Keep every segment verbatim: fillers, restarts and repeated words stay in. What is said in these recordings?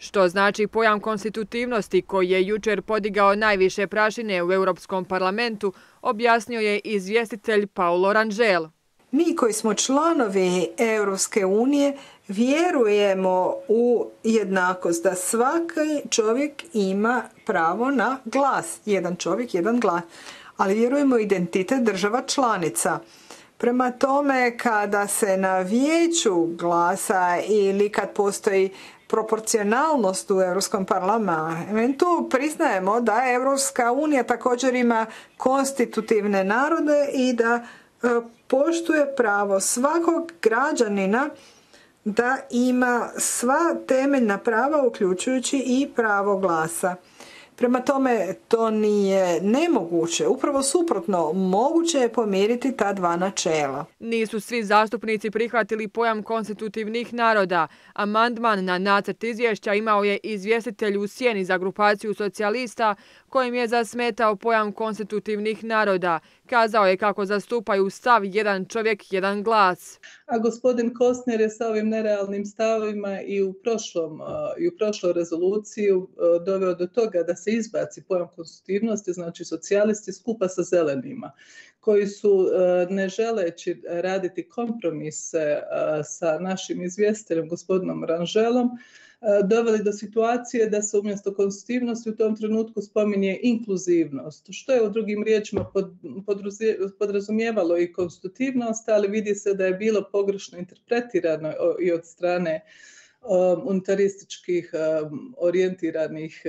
Što znači pojam konstitutivnosti koji je jučer podigao najviše prašine u Europskom parlamentu, objasnio je izvjestitelj Paulo Rangel. Mi koji smo članovi Europske unije vjerujemo u jednakost, da svaki čovjek ima pravo na glas. Jedan čovjek, jedan glas. Ali vjerujemo u identitet država članica. Prema tome, kada se na vijeću glasa ili kad postoji proporcionalnost u Europskom parlamentu, priznajemo da Europska unija također ima konstitutivne narode i da poštuje pravo svakog građanina da ima sva temeljna prava, uključujući i pravo glasa. Prema tome, to nije nemoguće. Upravo suprotno, moguće je pomiriti ta dva načela. Nisu svi zastupnici prihvatili pojam konstitutivnih naroda. Amandman na nacrt izvješća imao je izvjestitelj u sjeni za grupaciju socijalista kojim je zasmetao pojam konstitutivnih naroda. Kazao je kako zastupaju stav jedan čovjek, jedan glas. A gospodin Kostner je sa ovim nerealnim stavovima i u, prošlom, i u prošloj rezoluciji doveo do toga da se izbaci pojam konstitutivnosti, znači socijalisti skupa sa zelenima, koji su, ne želeći raditi kompromise sa našim izvjestiteljem, gospodinom Rangelom, doveli do situacije da se umjesto konstitutivnosti u tom trenutku spominje inkluzivnost, što je u drugim riječima podrazumijevalo i konstitutivnost, ali vidi se da je bilo pogrešno interpretirano i od strane unitarističkih orijentiranih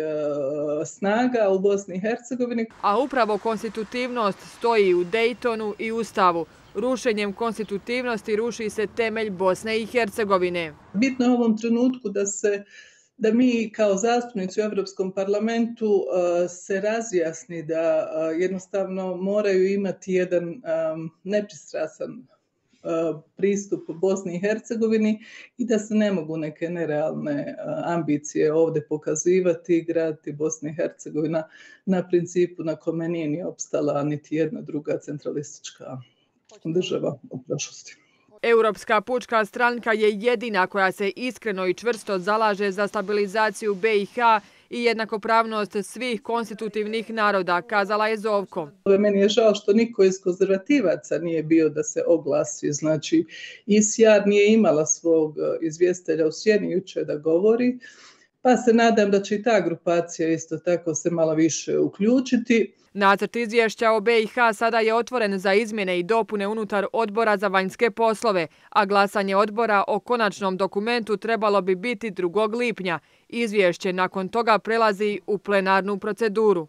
snaga u Bosni i Hercegovini. A upravo konstitutivnost stoji u Daytonu i Ustavu. Rušenjem konstitutivnosti ruši se temelj Bosne i Hercegovine. Bitno je u ovom trenutku da se da mi kao zastupnici u Europskom parlamentu uh, se razjasni da uh, jednostavno moraju imati jedan um, nepristrasan uh, pristup Bosni i Hercegovini i da se ne mogu neke nerealne uh, ambicije ovdje pokazivati i graditi Bosna i Hercegovina na principu na kome nije ni opstala niti jedna druga centralistička država u prošlosti. Europska pučka stranka je jedina koja se iskreno i čvrsto zalaže za stabilizaciju be i ha i jednakopravnost svih konstitutivnih naroda, kazala je Zovko. Meni je žao što niko iz konzervativaca nije bio da se oglasi. Znači, I S J A R nije imala svog izvjestitelja u sjeni jučer da govori, pa se nadam da će i ta grupacija isto tako se malo više uključiti. Nacrt izvješća o be i ha sada je otvoren za izmjene i dopune unutar Odbora za vanjske poslove, a glasanje odbora o konačnom dokumentu trebalo bi biti drugog lipnja. Izvješće nakon toga prelazi u plenarnu proceduru.